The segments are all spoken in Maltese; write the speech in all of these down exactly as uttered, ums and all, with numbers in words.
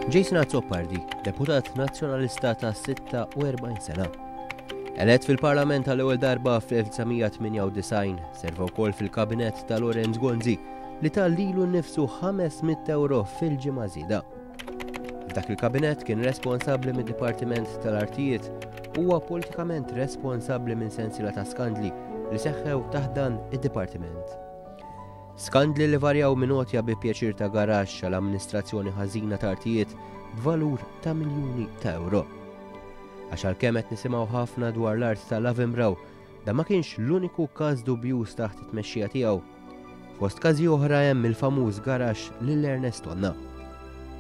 Jason Azzopardi, deputat nazzjonalista ta' sitta u erbgħin sena. Elett fil-Parlament għall-ewwel darba fl-elf disa' mija tmienja u disgħin, serva wkoll fil-kabinett ta' Lawrence Gonzi li ta lilu nnifsu ħames mitt euro fil-ġimgħa żieda. F'dak il-kabinett kien responsabbli mid-Dipartiment tal-Artijiet, huwa politikament responsabbli minn sensiela ta' skandli li seħħew taħt dan id-dipartiment. Skandli li varjaw minn għotja bi pjaċir ta' garaxx għal amministrazzjoni ħażina ta' artijiet b'valur ta' miljuni ta' euro. Għax għalkemm qed nisimgħu ħafna dwar l-art ta' Lavenbrau, dan ma kienx l-uniku każ dubjuż taħt it-tmexxija tiegħu. Fost każi oħra hemm il-famuż garaxx lil Ernest Tonna.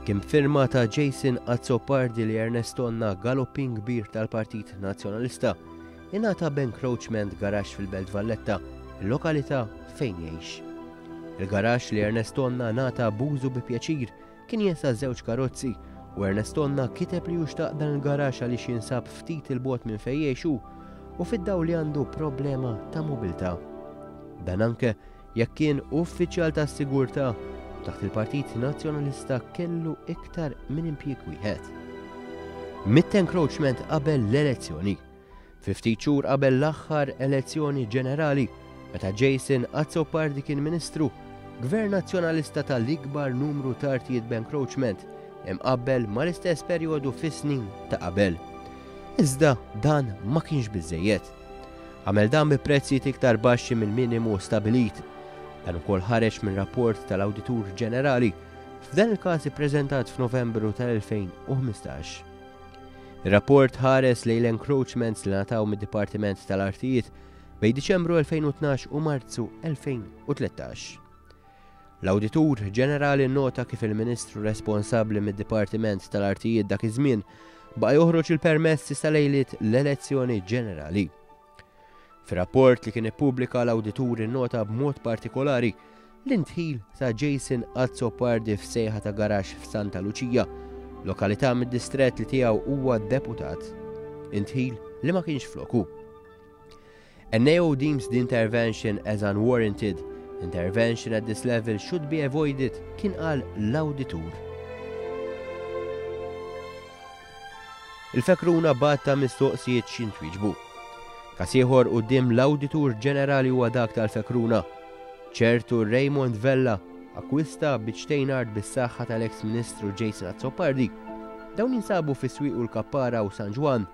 Kien firma ta' Jason Azzopardi li Ernest Tonna, galoppin kbir tal-Partit Nazzjonalista, ingħata b'encroachment garaxx fil-Belt Valletta, il-lokalità fejn jgħix. Il-garaxx li Ernest Tonna ngħata b'użu bi pjaċir kien jesa' żewġ karozzi u Ernest Tonna kiteb li xtaq dan il-garaxx għaliex jinsab ftit 'il bogħod minn fejn jgħixu u fid-dawl li għandu problema ta' mobilità. Dan anke jekk kien uffiċjal ta' sigurtà taħt il-Partit Nazzjonalista kellu iktar minn impjieg wieħed. Mitt encroachment qabel l-elezzjoni. Fi ftit xhur qabel l-aħħar elezzjoni ġenerali, meta Jason Azzopardi kien ministru, Gvern Nazzjonalista tal-ikbar numru ta' artijiet b'encroachment imqabbel mal-istess perjodu fis-snin ta' qabel. Iżda dan ma kienx biżejjed. Għamel dan bi prezzijiet iktar baxxi mill-minimu stabilit. Dan ukoll ħareġ minn rapport tal-Awditur Ġenerali, f'dan il-każ ippreżentat f'Novembru tal-elfejn u ħmistax. Ir-rapport ħares lejn l-encroachments li ngħataw mid-Dipartiment tal-Artijiet bejn Diċembru elfejn u tnax u Marzu elfejn u tlettax. L-Awditur Ġenerali nota kif il-Ministru responsabbli mid-Dipartiment tal-Artijiet dak iż-żmien baqa' joħroġ il-permessi sa lejliet l-elezzjoni ġenerali. Fir-rapport li kien ippubblika, l-awditur innota b'mod partikolari l-indħil ta' Jason Azzopardi f'sejħa ta' garaxx f'Santa Luċija, lokalità mid-distret li tiegħu huwa deputat. Indħil li ma kienx floku. "N A O deems the intervention as unwarranted. Intervention at this level should be avoided," kien qal l-awditur. Il-Fekruna batta mistoqsijiet x'jintwieġbu. Każ ieħor quddiem l-Awditur Ġenerali huwa dak tal-Fekruna. Ċertu Raymond Vella akkwista biċtejn art bis-saħħa tal-ex Ministru Jason Azzopardi. Dawn jinsabu fis-Swieq u l-Kappara u San Ġwann.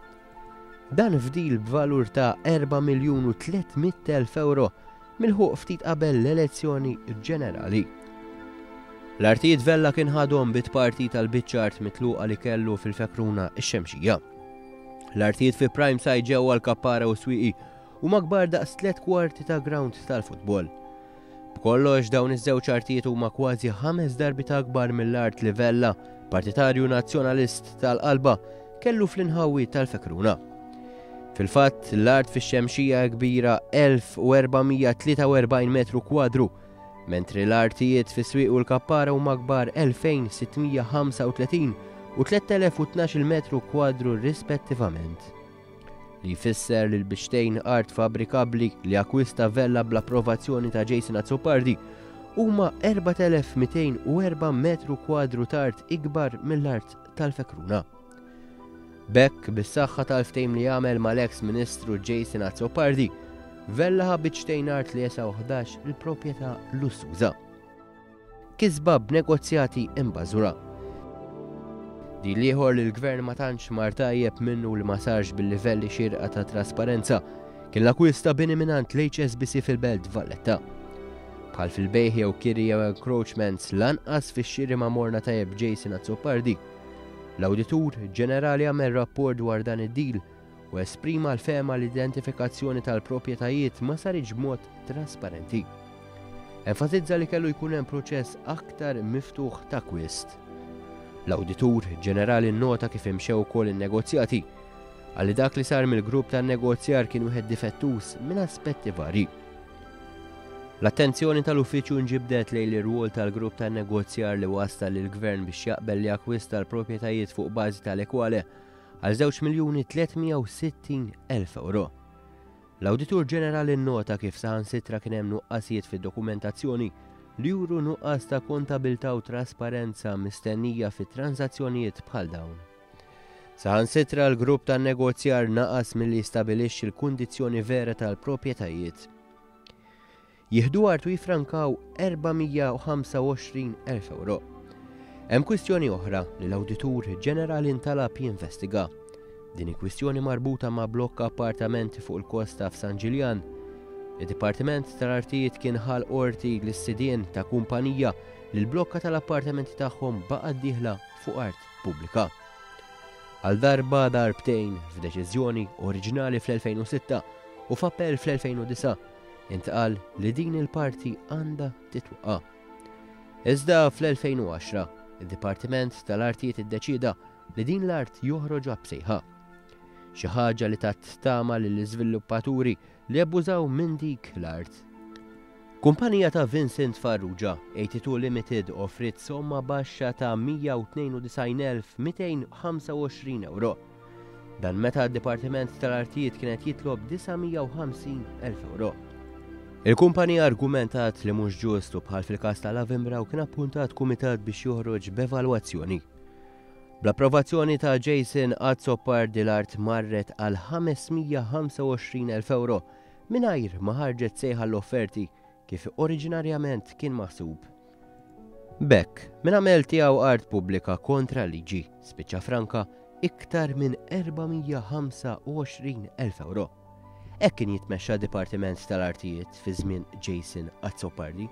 Dan f'deal b'valur ta' erba' miljun u tliet mitt elf euro milħuq ftit qabel l-elezzjoni ġenerali. L-artijiet Vella kien ħadhom bi tpartit tal-biċċa art mitluqa li kellu fil-Fekruna ix-Xemxija. L-artijiet fi prime site ġewwa l-Kappara u Swieqi huma kbar daqs tliet kwarti ta' ground tal-futbol. B'kollox, dawn iż-żewġ artijiet huma kważi ħames darbiet akbar mill-art li Vella, partitarju nazzjonalist tal-qalba, kellu fl-inħawi tal-Fekruna. Fil-fatt, l-art fix-Xemxija kbira elf u erba' mija tlieta u erbgħin metru kwadru, mentri l-artijiet fis-Swieq u l-Kappara huma kbar elfejn sitt mija ħamsa u tletin u tlett elef u tnax metru kwadru rispettivament. Li jfisser li l-biċtejn art fabrikabli li akwista Vella bl-approvazzjoni ta' Jason Azzopardi huma erbat elef mitejn u erbgħa metru kwadru ta' art ikbar mill-art tal-Fekruna. B'hekk, bis-saħħa tal-ftehim li għamel mal-ex Ministru Jason Azzopardi, Vella ħa biċtejn art li jesgħu ħdax il-proprjetà lussuża. Kisba b'negozjati imbażura. Deal ieħor li l-gvern ma tantx mar tajjeb minnu li ma sarx bil-livelli xirqa ta' trasparenza kien l-akwist ta' bini mingħand l-H S B C fil-Belt Valletta. Bħal fil-bejħ jew kiri jew encroachments, lanqas fix-xiri ma morna tajjeb Jason Azzopardi. L-Awditur Ġenerali għamel rapport dwar dan id-deal u esprima l-fehma l-identifikazzjoni tal-proprjetajiet ma saritx b'mod trasparenti. Enfasizza li kellu jkun hemm proċess aktar miftuħ ta' akkwist. L-Awditur Ġenerali nota kif imxew ukoll in-negozjati, għalli dak li sar mill-grupp tan-negozjar kien wieħed difettuż minn aspetti vari. L-attenzjoni tal-uffiċċju nġibdet lejn ir-rwol tal-grupp tan-negozjar li wassal lill-gvern biex jaqbel li akkwista l-proprjetajiet fuq bażi tal-ekwale għal żewġ miljuni tliet mija u sittin elf euro. L-Awditur Ġenerali nota kif saħansitra kien hemm nuqqasijiet fid-dokumentazzjoni li juru nuqqas ta' kontabilità u trasparenza mistennija fi transazzjonijiet bħal dawn. Saħansitra l-grupp tan-negozjar naqas milli jistabilixxi l-kundizzjoni vera tal-proprjetajiet. Jieħdu art u jifrankaw erba' mija u ħamsa u għoxrin elf euro. Hemm kwistjoni oħra li l-Awditur Ġenerali ntalab jinvestiga. Din hi kwistjoni marbuta ma' blokka appartamenti fuq il-kosta f'San Ġiljan. Id-Dipartiment tal-Artijiet kien ħal qorti lis-sidien ta' kumpanija li l-blokka tal-appartamenti tagħhom baqgħet dieħla fuq art pubblika. Għal darba darbtejn f'deċiżjoni oriġinali fl-elfejn u sitta u f'appell fl-elfejn u disa' intqal li din il-parti għandha titwaqqa'. Iżda fl-elfejn u għaxra, id-Dipartiment tal-Artijiet iddeċieda li din l-art joħroġha b'sejħa. Xi ħaġa li tat tama lill-iżviluppaturi li abbużaw minn dik l-art. Kumpanija ta' Vincent Farrugia, eighty-two Limited, offrit somma baxxa ta' mija u tnejn u disgħin elf mitejn ħamsa u għoxrin euro. Dan meta d-Dipartiment tal-Artijiet kienet jitlob disa' mija u ħamsin elf euro. Il-kumpanija argumentat li mhux ġust u bħal fil-każ tal-Avimbra u kien appuntat kumitat biex joħroġ b'evalwazzjoni. Bl-approvazzjoni ta' Jason Azzopardi l-art marret għal ħames mija ħamsa u għoxrin elf euro mingħajr ma ħarġet sejħa l-offerti kif oriġinarjament kien maħsub. B'hekk, min għamel tiegħu art pubblika kontra liġi spiċċa franka iktar minn erba' mija ħamsa u għoxrin elf euro. Hekk kien jitmexxa Dipartiment tal-Artijiet fi żmien Jason Azzopardi.